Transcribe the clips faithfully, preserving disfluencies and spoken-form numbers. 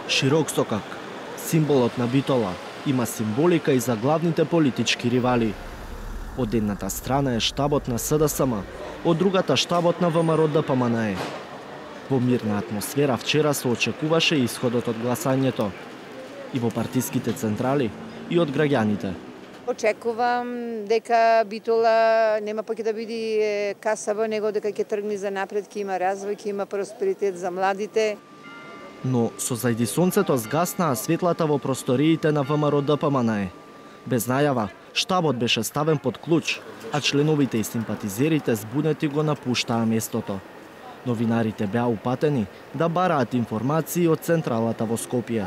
Широк сокак, символот на Битола, има символика и за главните политички ривали. Од едната страна е штабот на С Д С М, од другата штабот на В М Р Д П М Н Е. Во мирна атмосфера вчера се очекуваше исходот од гласањето. И во партиските централи, и од граѓаните. Очекувам дека Битола нема поќе да биде касаво, него дека ќе тргне за напред, ќе има развој, ќе има просперитет за младите. Но со зајди сонцето згаснаа светлата во просториите на В М Р Д П М Н Е. Без најава, штабот беше ставен под клуч, а членовите и симпатизерите збунети го напуштаа местото. Новинарите беа упатени да бараат информации од централата во Скопје.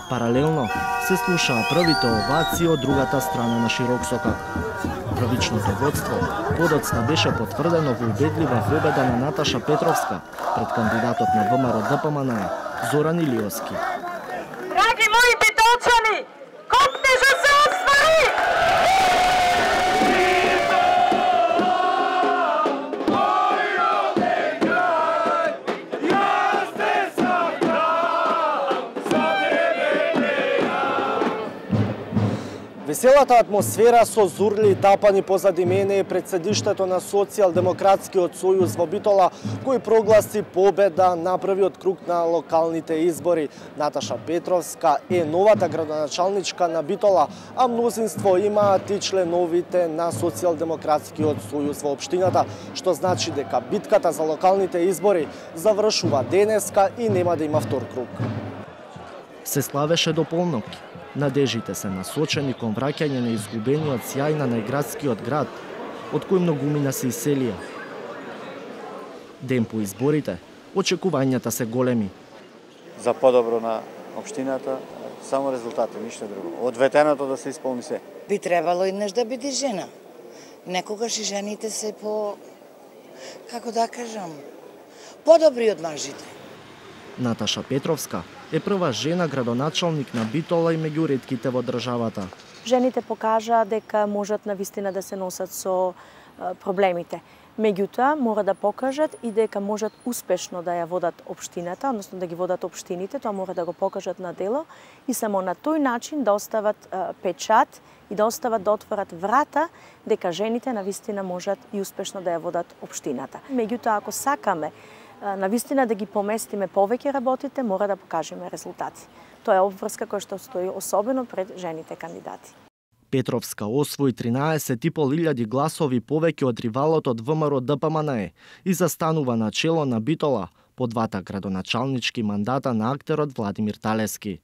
Паралелно се слушаа првите овации од другата страна на широк сокак. Првичното водство подоцна беше потврдено во убедлива победа на Наташа Петровска пред кандидатот на В М Р Д П М Н Е Зоран Илиовски. Драги мои битолчани, коптежа се оствари! Веселата атмосфера со зурли тапани позади мене е пред седиштето на Социјалдемократскиот сојуз во Битола, кој прогласи победа на првиот круг на локалните избори. Наташа Петровска е новата градоначалничка на Битола, а мнозинство имаат и членовите на Социјалдемократскиот сојуз во општината, што значи дека битката за локалните избори завршува денеска и нема да има втор круг. Се славеше до полноќ. Надежите се насочени кон враќање на изгубениот сјај на најградскиот град, од кој многумина се иселија. Ден по изборите, очекувањата се големи. За подобро на општината, само резултати, ништо друго. Од ветеното да се исполни се. Би требало еднаш да биде жена. Некогаш и жените се по, како да кажам, подобри од мажите. Наташа Петровска е прва жена градоначалник на Битола и меѓу ретките во државата. Жените покажаа дека можат навистина да се носат со проблемите. Меѓутоа, мора да покажат и дека можат успешно да ја водат општината, односно да ги водат општините, тоа мора да го покажат на дело и само на тој начин да остават печат и да остават да отворат врата дека жените навистина можат и успешно да ја водат општината. Меѓутоа, ако сакаме навистина да ги поместиме повеќе работите, мора да покажеме резултати. Тоа е обврска која што стои особено пред жените кандидати. Петровска освои тринаесет и пол илјади гласови повеќе од ривалот од В М Р Д П М Н Е и застанува на чело на Битола по двата градоначалнички мандата на актерот Владимир Талески.